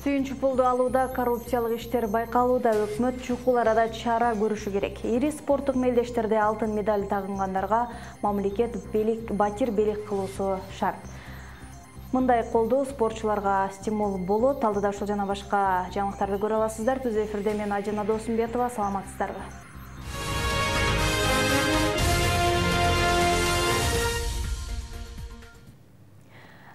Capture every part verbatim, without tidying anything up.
Сүйүнчү пулду алууда коррупциялык иштер байкалууда, өкмөт чукул арада чара көрүшү керек. Ири спорттук мелдештерде алтын медаль тагынгандарга мамлекет батир белек кылуусу шарт. Мындай колдоо спортчуларга стимул болот. Алдыда ушул жана башка жаңылыктарды көрө аласыздар. Түз эфирде мен Ажана Досумбетова, саламатсыздарбы?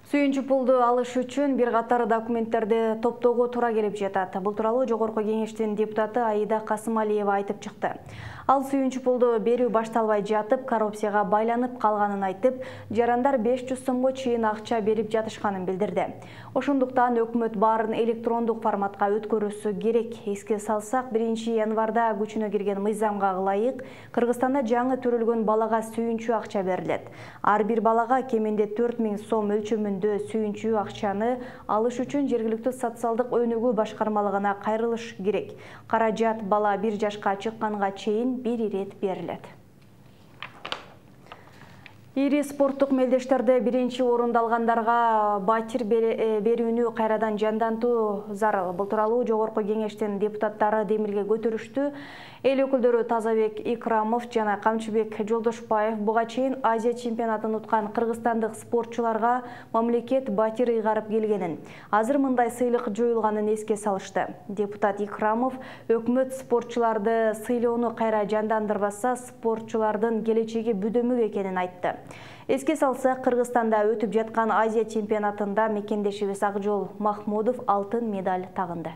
Сүйүнчү пулду алыш үчүн бир катар документтерди топтоого туура келип жатат. Бул тууралуу Жогорку Кеңештин депутаты Аида Касымалиева айтып чыкты. Ал сүйүнчү пулду берүү башталбай жатып, коррупцияга байланып калганын айтып, жарандар беш жүз сомго чейин акча берип жатышканын билдирди. Ошондуктан өкмөт баарын электрондук форматка өткөрүүсү керек. Эске салсак, биринчи январда күчүнө кирген мыйзамга ылайык Кыргызстанда жаңы төрөлгөн балага сүйүнчү акча берилет. Ар бир балага кеминде төрт миң сом өлчөмүндө сүйүнчү акчаны алыш үчүн жергиликтүү социалдык өнүгүү башкармалыгына кайрылыш керек. Каражат бала бир жашка чыкканга чейин бир ирет берилет. Ири спорттук мелдештерде биринчи орунду алгандарга батир берүүнү кайрадан жандантуу зарыл. Бул тууралуу Жогорку Кеңештин депутаттары демилге көтөрүштү. Эл өкүлдөрү Тазабек Икрамов жана Камчыбек Жолдошбаев буга чейин Азия чемпионатын уткан кыргызстандык спортчуларга мамлекет батир ыйгарып келгенин, азыр мындай сыйлык жоюлганын эске салышты. Депутат Икрамов өкмөт спортчуларды сыйлоону кайра жандандырбаса, спортчулардын келечеги бүдөмүк экенин айтты. Эске салсак, Кыргызстанда өтүп жаткан Азия чемпионатында мекендешибиз Акжол Махмудов алтын медаль тагынды.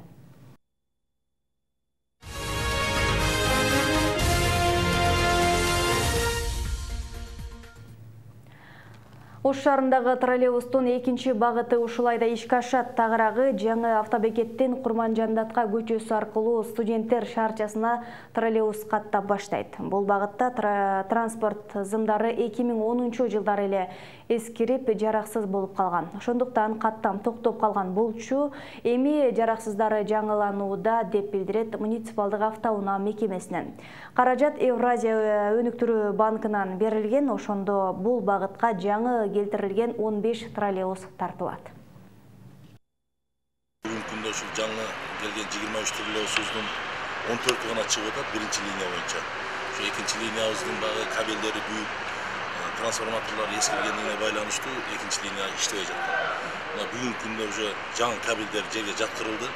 Ош шаарындагы троллейбустун экинчи багыты ушул айда ишке ашат. Тагыраагы жаңы автобекеттен Курманжандатка көчөсү аркылуу студенттер шаарчасына троллейбус каттап баштайт. Бул багытта транспорт зымдары эки миң онунчу жылдары эле эскирип, жараксыз болуп калган. Ошондуктан каттам токтоп калган болчу эми жараксыздары жаңыланууда, деп билдирет муниципалдык автоунаа мекемесинен. Каражат Евразия өнүктүрүү банкынан берилген, ошондо бул багытка жаңы келтирилген он беш троллейбус тартылат. Бүгүнкү күндө ушул жаңы келген жыйырма үч троллейбусубуздун он төртү гана чыгып атат биринчи линия боюнча. Ошо экинчи линиябыздын багы кабелдери büyük, трансформаторлор эскиргенине байланыштуу экинчи линия иштебей жатат. Мына бүгүнкү күндө уже жаңы кабелдер жерге жаткырылды.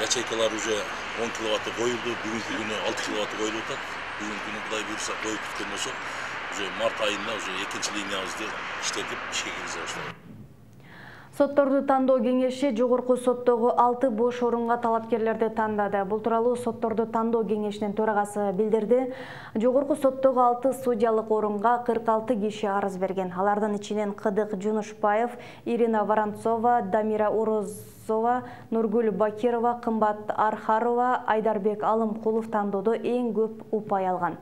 Ячейкалар уже он киловатты коюлду, бүгүнкү күнү алты киловатты коюлуп атат. Бүгүнкү күнү Кудай буйрса коюп бүткөн болсок, уже март айында уже экинчи линиябызды иштетип ишке киргизе баштайбыз. Сотторду тандоо кеңеши Жогорку соттогу алты бош орунга талапкерлерди тандады. Бул тууралуу сотторду тандоо кеңешинин төрагасы билдирди. Жогорку соттогу алты судьялык орунга кырк алты киши арыз берген. Алардын ичинен Кыдык Жунушбаев, Ирина Воронцова, Дамира Орозова, Нургүл Бакирова, Кымбат Архарова, Айдарбек Алымкулов тандоодо эң көп упай алган.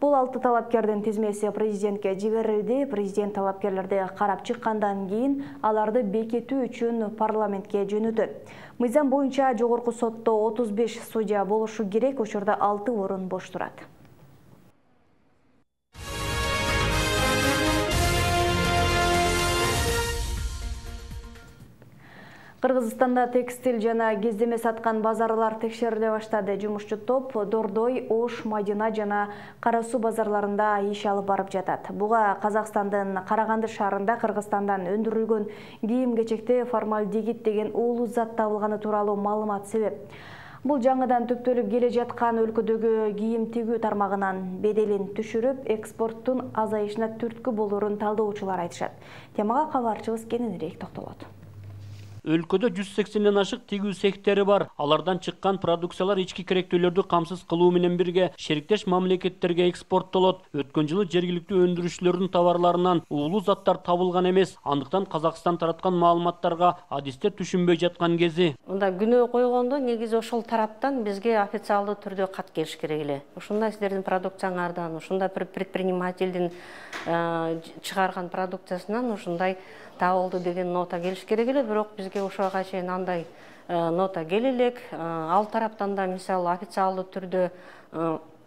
Бул алты талапкердин тизмеси президентке жиберилди. Президент талапкерлерди карап чыккандан кийин аларды бекитүү үчүн парламентке жөнөтөт. Мыйзам боюнча Жогорку сотто отуз беш судья болушу керек, учурда алты орун бош турат. Кыргызстанда текстиль жана кездеме саткан базарлар текшериле баштады. Жумушчу топ Дордой, Ош, Мадина жана Кара Суу базарларында иш алып барып жатат. Буга Казакстандын Караганды шаарында Кыргызстандан өндүрүлгөн кийим-кечекте формальдегид деген уулуу зат табылганы тууралуу маалымат себеп. Бул жаңыдан түптөлүп келе жаткан өлкөдөгү кийим тигүү тармагынын беделин түшүрүп, экспорттун азайышына түрткү болорун талдоочулар айтышат. Темага кабарчыбыз кененирээк токтолот. Өлкөдө жүз сексенден ашык тигүү цехтери бар. Алардан чыккан продукциялар ички керектүүлөрдү камсыз кылуу менен бирге шериктеш мамлекеттерге экспорттолот. Өткөн жылы жергиликтүү өндүрүүчүлөрдүн товарларынан уулуу заттар табылган эмес. Андыктан Казакстан тараткан маалыматтарга адистер түшүнбөй жаткан кези. Мында күнөө койгондо негизи ошол тараптан бизге официалдуу түрдө кат келиш керек эле. Ушундай сиздердин продукцияңардан, ушундай предпринимательдин чыгарган продукциясынан ушундай табылды деген нота келиш керек эле, бирок бизге ошого чейин андай нота келе элек. Ал тараптан да мисалы официалдуу түрдө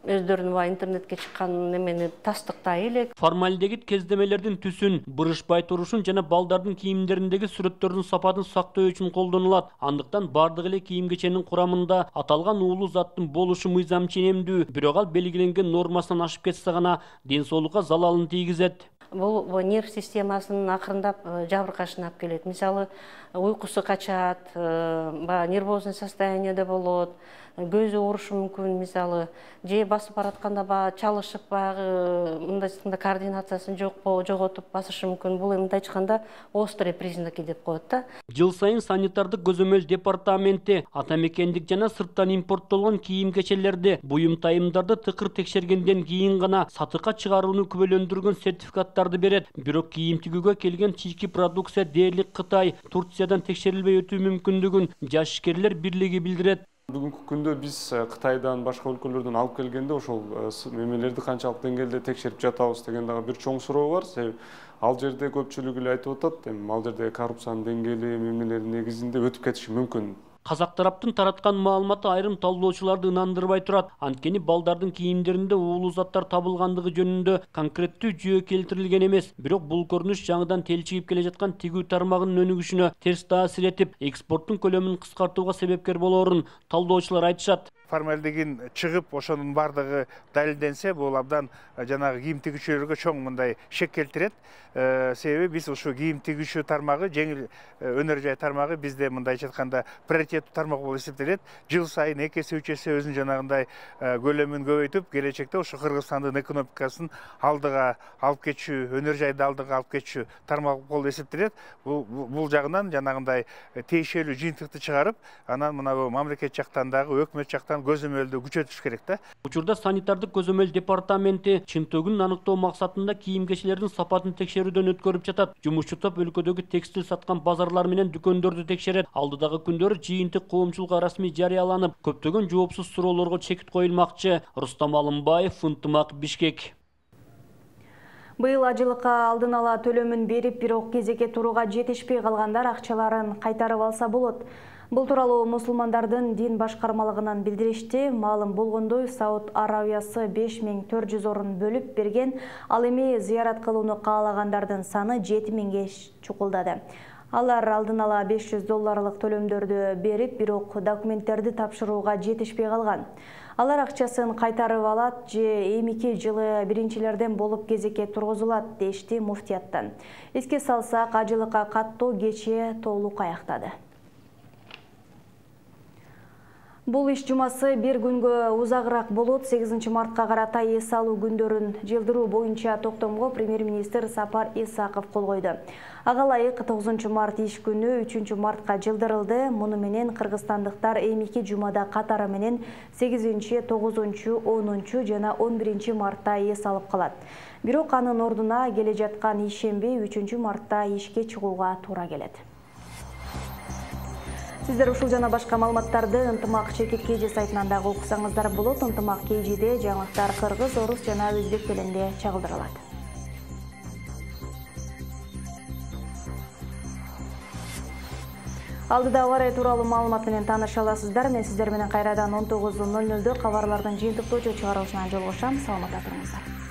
өздөрүнүн баягы интернетке чыккан немени тастыктай элек. Формальдегид кездемелердин түсүн, бурушпай турушун жана балдардын кийимдериндеги сүрөттөрдүн сапатын сактоо үчүн колдонулат. Андыктан бардык эле кийим-кеченин курамында аталган уулуу заттын болушу мыйзам ченемдүү, бирок ал белгиленген нормасынан ашып кетсе гана ден соолукка залалын тийгизет. Бул нерв системасынын акырындап жабыркашына алып келет. Мисалы, уйкусу качат, баягы нервозный состояниеде болот, көзү оорушу мүмкүн, мисалы, же басып баратканда баягы чалышып, баягы мындайча координациясын жоготуп басышы мүмкүн. Бул мындай айтканда острый признаки деп коет да. Жыл сайын санитардык көзөмөл департаменти ата мекендик жана сырттан импорттолгон кийим-кечелерди, буюм тайымдарды тыкыр текшергенден кийин гана сатыкка чыгарууну күбөлөндүргөн сертификаттарды берет. Бирок кийим тигүүгө келген чийки продукция дээрлик Кытай, Турциядан текшерилбей өтүү мүмкүндүгүн Жаш ишкерлер бирлиги билдирет. Бүгүнкү күндө биз Кытайдан, башка өлкөлөрдөн алып келгенде ошол мемелерди канчалык деңгээлде текшерип жатабыз деген дагы бир чоң суроо бар. Себеби ал жерде көпчүлүгү эле айтып атат, эми ал жерде коррупциянын деңгээли мемелердин негизинде өтүп кетиши мүмкүн. Казак тараптын тараткан маалыматы айрым талдоочуларды ынандырбай турат. Анткени балдардын кийимдеринде уулуу заттар табылгандыгы жөнүндө конкреттүү жүйө келтирилген эмес. Бирок бул көрүнүш жаңыдан телчигип келе жаткан тигүү тармагынын өнүгүшүнө терс таасир этип, экспорттун көлөмүн кыскартууга себепкер болоорун талдоочулар айтышат. Формальдегин чыгып, ошонун бардыгы далилденсе, бул абдан жанагы кийим тигүүчүлөргө чоң мындай шек келтирет. Себеби биз ушу кийим тигүүчү тармагы, жеңил өнөр жай тармагы бизде мындайча айтканда приоритеттүү тармак болуп эсептелет. Жыл сайын эки эсе, үч эсе өзүнүн жанагындай көлөмүн көбөйтүп, келечекте ушу Кыргызстандын экономикасын алдыга алып кетчү, өнөр жайды алдыга алып кетчү тармак болуп эсептелет. Бул бул жагынан жанагындай тиешелүү жыйынтыкты чыгарып, анан мына бу мамлекет жактан дагы өкмөт жактан көзөмөлдү күчөтүш керек да. Учурда санитардык көзөмөл департаменти чынтөгүн аныктоо максатында кийим-кечелердин сапатын текшерүүдөн өткөрүп жатат. Жумушчу топ өлкөдөгү текстиль саткан базарлар менен дүкөндөрдү текшерет. Алдыдагы күндөрү жыйынтык коомчулукка расмий жарыяланып, көптөгөн жоопсуз суроолорго чекит коюлмакчы. Рустам Алымбаев, Ынтымак, Бишкек. Быйыл ажылыкка алдын ала төлөмүн берип, бирок кезекке турууга жетишпей калгандар акчаларын кайтарып алса болот. Бул тууралуу мусулмандардын дин башкармалыгынан билдиришти. Маалым болгондой, Сауд Арабиясы беш миң төрт жүз орун бөлүп берген, ал эми зыярат кылууну каалагандардын саны жети миңге чукулдады. Алар алдын ала беш жүз долларлык төлөмдөрдү берип, бирок документтерди тапшырууга жетишпей калган. Алар акчасын кайтарып алат же эмики жылы биринчилерден болуп кезекке тургузулат, дешти муфтияттан. Эске салсак, ажылыкка каттоо кечээ толук аяктады. Бул иш жумасы бир күнгө узагыраак болот. сегизинчи мартка карата эс алуу күндөрүн жылдыруу боюнча токтомго премьер-министр Сапар Исаков кол койду. Ага ылайык тогузунчу март иш күнү үчүнчү мартка жылдырылды. Муну менен кыргызстандыктар эмики жумада катары менен сегизинчи, тогузунчу, онунчу жана он биринчи мартта эс алып калат. Бирок анын ордуна келе жаткан ишемби үчүнчү мартта ишке чыгууга туура келет. Сиздер ушул жана башка маалыматтарды Ынтымак Чекит Кейжи сайтынан дагы окусаңыздар болот. Ынтымак Кейжиде жаңылыктар кыргыз, орус жана өзбек тилинде чагылдырылат. Алдыда ауа райы тууралуу маалымат менен тааныша аласыздар. Мен сиздер менен кайрадан он тогуз ноль нолдо кабарлардын жыйынтыктоочу чыгарылышынан жолугушам. Саламатта туруңуздар.